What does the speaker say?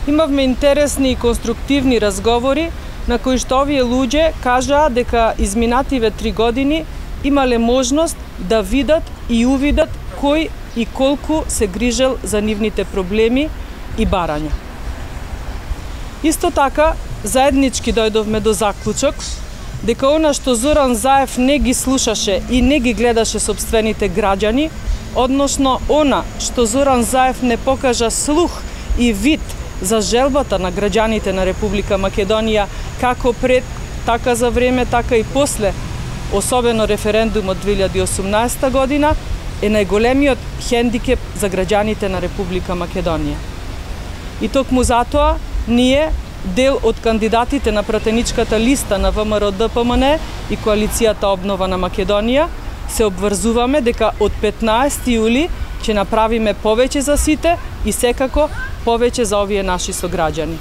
Имавме интересни и конструктивни разговори на кои што овие луѓе кажаа дека изминативе 3 години имале можност да видат и увидат кој и колку се грижел за нивните проблеми и барања. Исто така, заеднички дојдовме до заклучок дека она што Зоран Заев не ги слушаше и не ги гледаше сопствените граѓани, односно она што Зоран Заев не покажа слух и вид за желбата на граѓаните на Република Македонија, како пред, така за време, така и после, особено референдумот 2018 година, е најголемиот хендикеп за граѓаните на Република Македонија. И токму затоа, ние, дел од кандидатите на пратеничката листа на ВМРО-ДПМН и Коалицијата Обнова на Македонија, се обврзуваме дека од 15 јули ќе направиме повеќе за сите и секако повеќе за овие наши сограѓани.